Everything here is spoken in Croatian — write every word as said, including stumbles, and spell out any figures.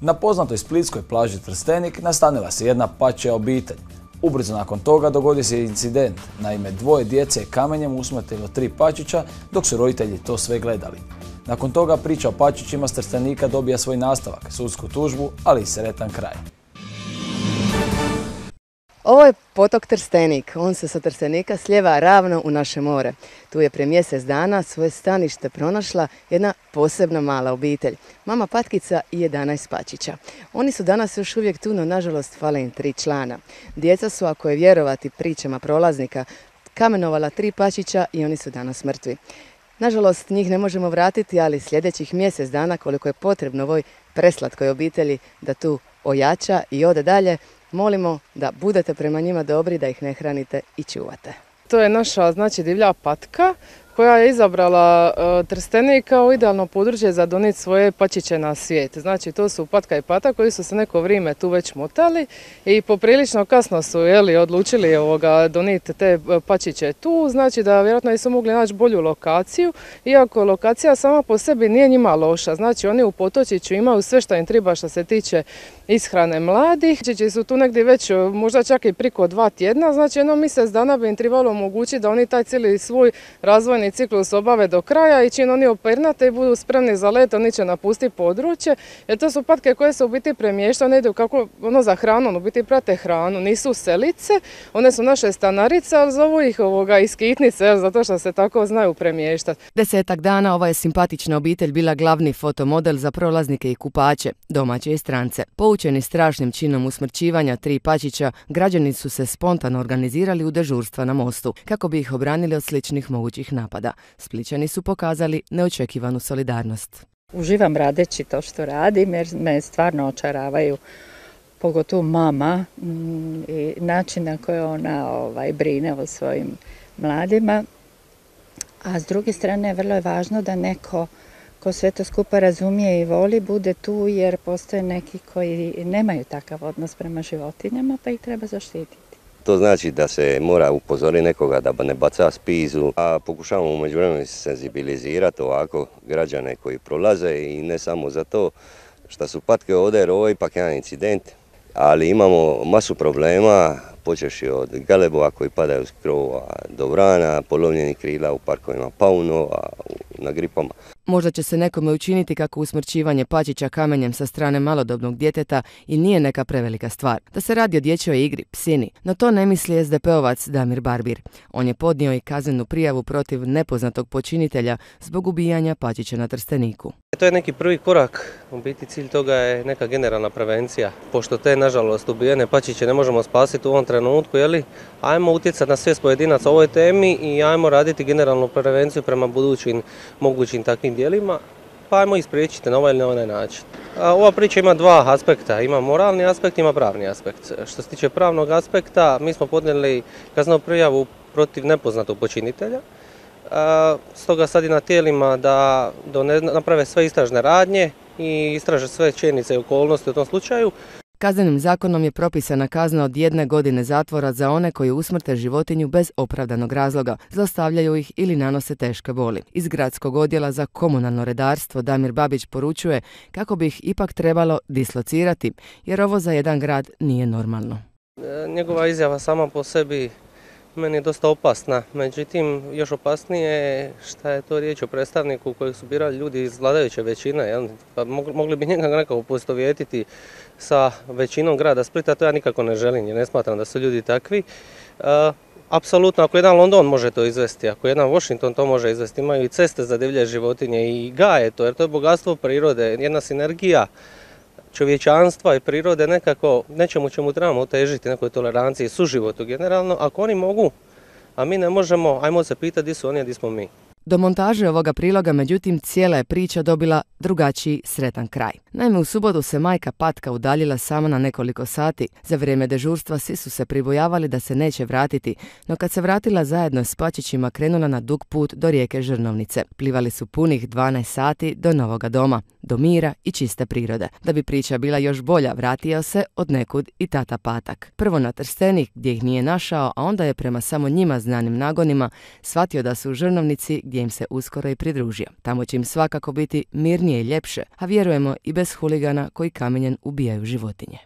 Na poznatoj splitskoj plaži Trstenik nastanila se jedna pačja obitelj. Ubrzo nakon toga dogodio se incident. Naime, dvoje djece je kamenjem usmrtilo tri pačića dok su roditelji to sve gledali. Nakon toga priča o pačićima s Trstenika dobija svoj nastavak, sudsku tužbu, ali i sretan kraj. Ovo je potok Trstenik. On se sa Trstenika slijeva ravno u naše more. Tu je prije mjesec dana svoje stanište pronašla jedna posebna mala obitelj. Mama Patkica i jedanaest pačića. Oni su danas još uvijek tu, no nažalost fale im tri člana. Djeca su, ako je vjerovati pričama prolaznika, kamenovala tri pačića i oni su danas mrtvi. Nažalost, njih ne možemo vratiti, ali sljedećih mjesec dana, koliko je potrebno ovoj preslatkoj obitelji da tu ojača i ode dalje, molimo da budete prema njima dobri, da ih ne hranite i čuvate. To je naša, znači, divlja patka koja je izabrala uh, Trstenik kao idealno područje za donijeti svoje pačiće na svijet. Znači, to su patka i pata koji su se neko vrijeme tu već motali i poprilično kasno su jeli, odlučili ovoga, donijeti te pačiće tu. Znači da vjerojatno nisu mogli naći bolju lokaciju, iako lokacija sama po sebi nije njima loša. Znači, oni u Potočiću imaju sve što im treba što se tiče ishrane mladih. Pačići su tu negdje već možda čak i priko dva tjedna. Znači, jedno mjesec dana bi im trebalo omogućiti da oni taj cijeli svoj razvojni ciklus obave do kraja i čim oni opernate i budu spremni za let, oni će napustiti područje, jer to su patke koje se u biti premještaju, ne idu kako ono za hranu, u biti prate hranu, nisu selice, one su naše stanarice, ali zovu ih ovoga iskitnice, zato što se tako znaju premještati. Desetak dana ova je simpatična obitelj bila glavni fotomodel za prolaznike i kupače, domaće i strance. Poučeni strašnim činom usmrćivanja tri pačića, građani su se spontano organizirali u dežurstva na mostu, kako bi ih obranili od sličnih mogućih napada. Splićani su pokazali neočekivanu solidarnost. Uživam radeći to što radim jer me stvarno očaravaju, pogotovo mama i način na koji ona ovaj, brine o svojim mladima. A s druge strane vrlo je važno da neko ko sve to skupa razumije i voli bude tu, jer postoje neki koji nemaju takav odnos prema životinjama pa ih treba zaštititi. To znači da se mora upozoriti nekoga da ne baca spizu, a pokušavamo u međuvremenu senzibilizirati ovako građane koji prolaze i ne samo za to što su patke ovdje, jer ovo je ipak jedan incident, ali imamo masu problema, počevši od galebova koji padaju s krova do vrana, polovljenih krila u parkovima paunova, na gripama. Možda će se nekome učiniti kako usmrćivanje pačića kamenjem sa strane malodobnog djeteta i nije neka prevelika stvar. Da se radi o dječjoj igri, psini, no to ne misli es de pe ovac Damir Barbir. On je podnio i kaznenu prijavu protiv nepoznatog počinitelja zbog ubijanja pačića na Trsteniku. To je neki prvi korak, u biti cilj toga je neka generalna prevencija. Pošto te, nažalost, ubijene pačiće ne možemo spasiti u ovom trenutku, jeli, ajmo utjecati na svijest pojedinaca o ovoj temi i ajmo raditi generalnu prevenciju prema budućim mogućim takvim dijelima, pa ajmo ih spriječiti na ovaj ili na onaj način. A ova priča ima dva aspekta, ima moralni aspekt, ima pravni aspekt. Što se tiče pravnog aspekta, mi smo podnijeli kaznenu prijavu protiv nepoznatog počinitelja. Stoga sad je na tijelima da naprave sve istražne radnje i istraže sve činjenice i okolnosti u tom slučaju. Kaznenim zakonom je propisana kazna od jedne godine zatvora za one koji usmrte životinju bez opravdanog razloga, zlostavljaju ih ili nanose teške boli. Iz gradskog odjela za komunalno redarstvo Damir Babić poručuje kako bi ih ipak trebalo dislocirati, jer ovo za jedan grad nije normalno. Njegova izjava sama po sebi meni je dosta opasna, međutim još opasnije je što je to riječ o predstavniku kojeg su birali ljudi iz vladajuće većine, jel? Pa mogli bi njega nekako poistovjetiti sa većinom grada Splita, to ja nikako ne želim jer ne smatram da su ljudi takvi. E, apsolutno, ako jedan London može to izvesti, ako jedan Washington to može izvesti, imaju i ceste za divlje životinje i gaje to, jer to je bogatstvo prirode, jedna sinergija čovječanstva i prirode nekako nečemu čemu trebamo težiti, nekoj toleranciji i suživotu generalno. Ako oni mogu, a mi ne možemo, ajmo se pitati gdje su oni, a gdje smo mi. Do montaže ovoga priloga, međutim, cijela je priča dobila drugačiji sretan kraj. Naime, u subotu se majka patka udaljila samo na nekoliko sati. Za vrijeme dežurstva svi su se pribojavali da se neće vratiti, no kad se vratila zajedno s pačićima krenula na dug put do rijeke Žrnovnice. Plivali su punih dvanaest sati do novoga doma, do mira i čiste prirode. Da bi priča bila još bolja, vratio se od nekud i tata Patak. Prvo na Trstenik gdje ih nije našao, a onda je prema samo njima znanim nagonima shvatio da su u Žrnovnici gdje je im se uskoro i pridružio. Tamo će im svakako biti mirnije i ljepše, a vjerujemo i bez huligana koji kamenjem ubijaju životinje.